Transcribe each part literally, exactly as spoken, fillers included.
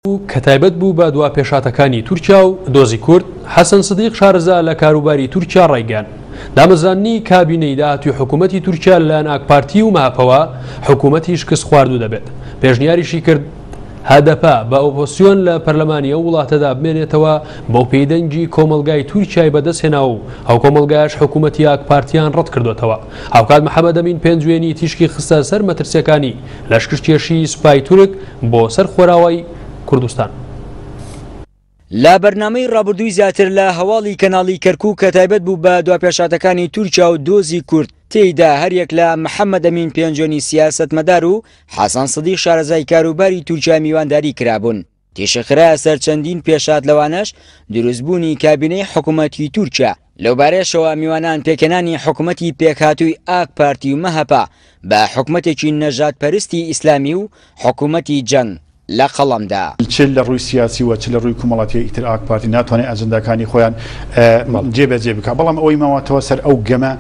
کە تایبەت بوو بە دوا پێشاتەکانی تورکیا و دۆزی کورد، حەسەن سدیق شارەزا لە کاروباری تورکیا ڕایگەیاند دامەزراندنی کابینەی داهاتووی حکوومەتی تورکیا لەلایەن ئاکپارتی و مەهەپەوە حکوومەتی شکست خواردوو دەبێت. پێشنیاریشی کرد هەدەپە بە ئۆپۆزسیۆن لە پەرلەمانی ئەو وڵاتەدا بمێنێتەوە بەو پێی دەنگی کۆمەلگای تورکیای بەدەستهێنا و ئەو کۆمەلگایش حکوومەتی ئاکپارتیان ڕەت کردوێتەوە. هاوکات محەممەد ئەمین پێنجوێنی تیشکی خستە سەر مەترسیەکانی لەشکرکێشی سوپای تورک بۆ سەر خۆراوای کوردستان. لە بەرنامەی ڕابردووی زیاتر لە هەواڵی کەناڵی کەرکوو کە تایبەت بوو بە دواپێشاتەکانی تورکیا و دۆزی کورد، تێیدا هەریەک لە محەممەد ئەمین پێنجوێنی سیاسەتمەدار و حەسەن سدیق شارەزای کاروباری تورکیا میوانداری کرابوون. تیشک خرایە سەر چەندین پێشات، لەوانەش دروستبوونی کابینەی حکوومەتی تورکیا. لەوبارەیەشەوە میوانان پێکهێنانی حکوومەتی پێکهاتووی ئاک پارتی و مەهەپە بە حکوومەتێکی نەژادپەرستی ئیسلامی و حکوومەتی جەنگ لە قەڵەمدا. چ لە ڕووی سیاسی و چ لە ڕووی کۆمەڵاتی ئیتر ئاک پارتی ناتوانێت ئەجنداکانی خۆیان جێبەجێ بکات، بەڵام ئەوەی ماوەتەوە سەر ئەو گەمە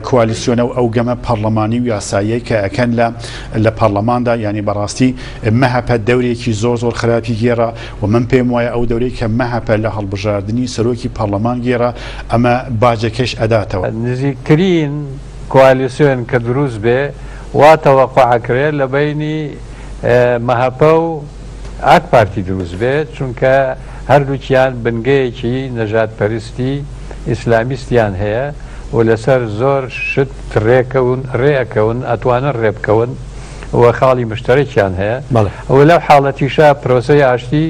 کوالیسیۆنە و ئەو گەمە پەرلەمانی و یاساییەی کە ئەکەن لە لە پەرلەماندا، یعنی بەڕاستی مەهەپە دەورێکی زۆر زۆر خراپی گێڕا و من پێم وایە ئەو دەورەی کە مەهەپە لە هەڵبژاردنی سەرۆکی پەرلەمان گێڕا ئەمە باجەکەش ئەداتەوە. نزیکترین کوالیسیۆن کە دروست بێ وا تەوەقع ئەکرێت لە بەینی مەهەپە و ئاک پارتی دروست بێت، چونکە هەردووکیان بنگەیەکی نەژادپەرستی ئیسلامیستیان هەیە و لەسەر زۆر شت ڕێکەون ڕێئەکەون ئەتوانن ڕێبکەون و خاڵی مشتەرەکیان هەیە. و لەو حاڵەتیشا پرۆسەی ئاشتی،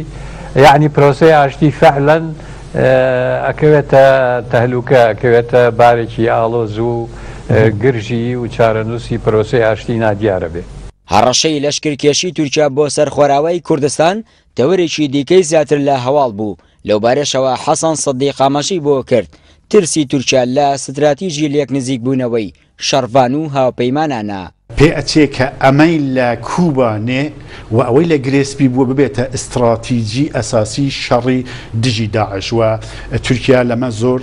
یعنی پرۆسەی ئاشتی فعلا ئەکەوێتە تەهلوکە، ئەکەوێتە بارێکی ئاڵۆز و گرژی و چارەنووسی پرۆسەی ئاشتی نادیارە بێ. هەڕەشەی لەشکرکێشی تورکیا بۆ سەر خۆراوای کوردستان تەوەرێکی دیکەی زیاتر لە هەواڵ بوو. لەوبارەشەوە حەسەن سدیق ئاماژەی بۆ کرد ترسی تورکیا لە ستراتیژی لێک نزیک بوونەوەی شەڕڤان و هاوپەیمانانە. پێ ئەچێ کە ئەمەی لە کوبانێ و ئەوەی لە گرێسپی بووە ببێتە ئیستراتیژی ئەساسی شەڕی دژی داعش و تورکیا لەمە زۆر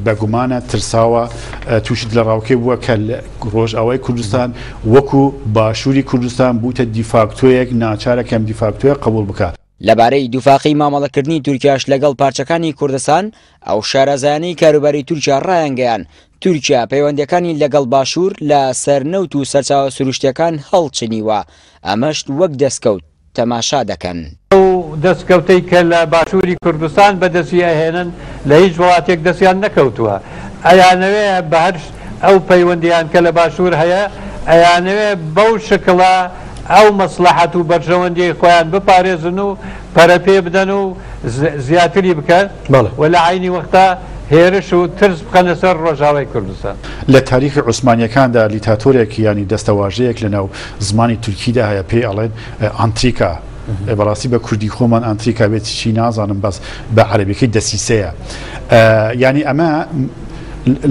بەگومانە ترساوە تووشت لە ڕاوکێ بووە کە ڕۆژئاوای کوردستان وەکو باشووری کوردستان بووتە دیفاکتۆیەک، ناچارە کەم دیفاکتۆیە قبول بکات. لەبارەی دووفاقی مامەڵەکردنی تورکیاش لەگەڵ پارچەکانی کوردستان، ئەو شارەزایانەی کاروباری تورکیا ڕایانگەیان تورکیا پەیوەندیەکانی لەگەڵ باشوور لە سەرنەوت و سەرچاوە سروشتیەکان هەڵچنیوە، ئەمەش وەک دەستکەوت تەماشا دەکەن. ئەو دەستکەوتەی کە لە باشووری کوردستان بەدەستی ئەهێنن لە هیچ وڵاتێک دەستیان نەکەوتووە. ئەیانەوێ بە هەر ئەو پەیوەندیان کە لە باشوور هەیە ئەیانەوێ بەو شکڵە ئەو مەسلحەت و بەرژەوەندیی خۆیان بپارێزن و پەرەپێ بدەن و زیاتری بکەن و لە عینی وەختە هێرش و ترس بخەنە سەر ڕۆژاوای کوردستان. لە تاریخی عوسمانیەکاندا لیتاتۆرێک یانی دەستەواژەیەک لەناو زمانی تورکیدا هەیە پێی ئەڵێن ئانتریکا. بەڕاستی بە کوردی خۆمان ئانتریکا بێت چی نازانم، بەس بە عەرەبیەکەی دەسیسەیە. یعنی ئەمە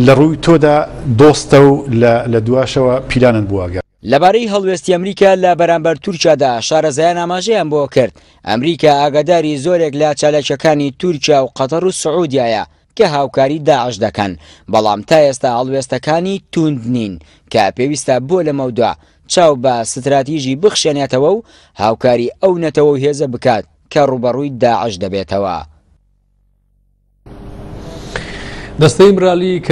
لە ڕووی تۆدا دۆستە و لە دواشەوە پیلانن بووە. لەبارەی هەڵوێستی ئەمریکا لە بەرامبەر تورکیادا شارەزایان ئاماژەیان بۆ کرد ئەمریکا ئاگاداری زۆرێک لە چالاکیەکانی تورکیا و قەتەر و سعودیایە کە هاوکاری داعش دەکەن، بەڵام تا ئێستا هەڵوێستەکانی توند نین کە پێویستە بۆ لەمەودا چاو بە ستراتیژی بخشێنێتەوە و هاوکاری ئەو نەتەوە و هێزە بکات کە ڕووبەڕووی داعش دەبێتەوە. دەستەی ئیمرالی کە